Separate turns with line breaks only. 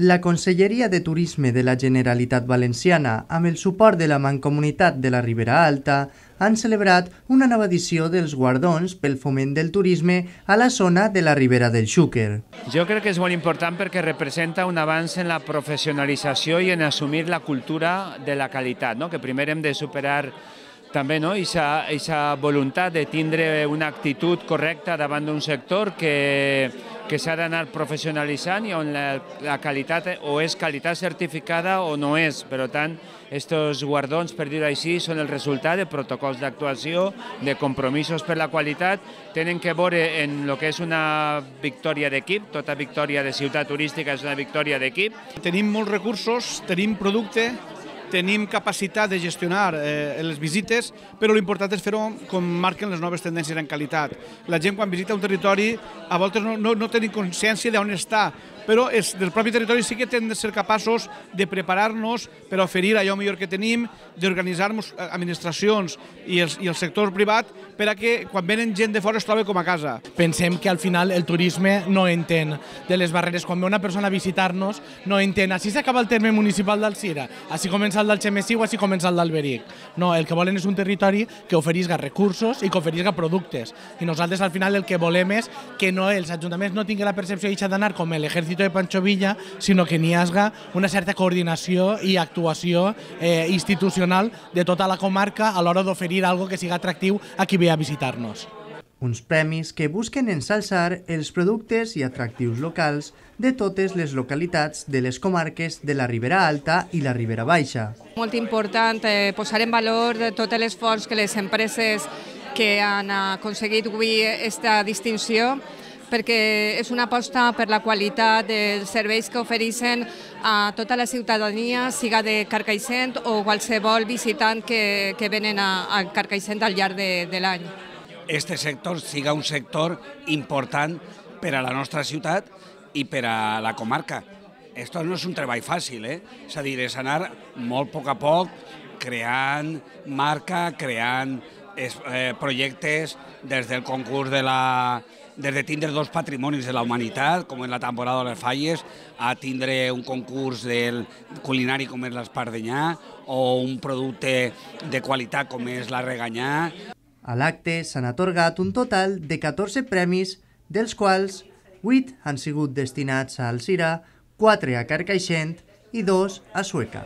La Conselleria de Turisme de la Generalitat Valenciana, amb el suport de la Mancomunitat de la Ribera Alta, han celebrat una nova edició dels guardons pel foment del turisme a la zona de la Ribera del Xúquer.
Jo crec que és molt important perquè representa un avanç en la professionalització i en assumir la cultura de la qualitat, no? Que primer hem de superar també aquesta voluntat de tindre una actitud correcta davant d'un sector que s'ha d'anar professionalitzant i on la qualitat o és qualitat certificada o no és. Per tant, aquests guardons, per dir-ho així, són el resultat de protocols d'actuació, de compromisos per la qualitat, tenen que veure en el que és una victòria d'equip, tota victòria de ciutat turística és una victòria d'equip.
Tenim molts recursos, tenim producte, tenim capacitat de gestionar les visites, però l'important és fer-ho com marquen les noves tendències en qualitat. La gent quan visita un territori a voltes no tenim consciència d'on està, però del propi territori sí que hem de ser capaços de preparar-nos per oferir allò millor que tenim, d'organitzar-nos administracions i el sector privat per a que quan venen gent de fora es trobi com a casa.
Pensem que al final el turisme no entén de les barreres. Quan ve una persona a visitar-nos no entén, així s'acaba el terme municipal d'Alzira, així comença el d'Algemesí o així comença el d'Alberic. No, el que volen és un territori que oferisca recursos i que oferisca productes. I nosaltres al final el que volem és que els ajuntaments no tinguin la percepció d'anar com l'exèrcit de Pancho Villa, sinó que n'hi hagi una certa coordinació i actuació institucional de tota la comarca a l'hora d'oferir alguna que sigui atractiu a qui ve a visitar-nos.
Uns premis que busquen ensalçar els productes i atractius locals de totes les localitats de les comarques de la Ribera Alta i la Ribera Baixa.
Molt important posar en valor tot l'esforç que les empreses que han aconseguit avui aquesta distinció, perquè és una aposta per la qualitat dels serveis que ofereixen a tota la ciutadania, siga de Carcaixent o qualsevol visitant que venen a Carcaixent al llarg de l'any.
Este sector siga un sector important per a la nostra ciutat i per a la comarca. Esto no és un treball fàcil, és a dir, és anar molt a poc, creant marca, creant projectes des del concurs des de tindre dos patrimonis de la humanitat, com és la temporada de les falles, a tindre un concurs del culinari com és l'Espardenyà o un producte de qualitat com és la Reganyà.
A l'acte s'han atorgat un total de 14 premis, dels quals 8 han sigut destinats a Alzira, 4 a Carcaixent i 2 a Sueca.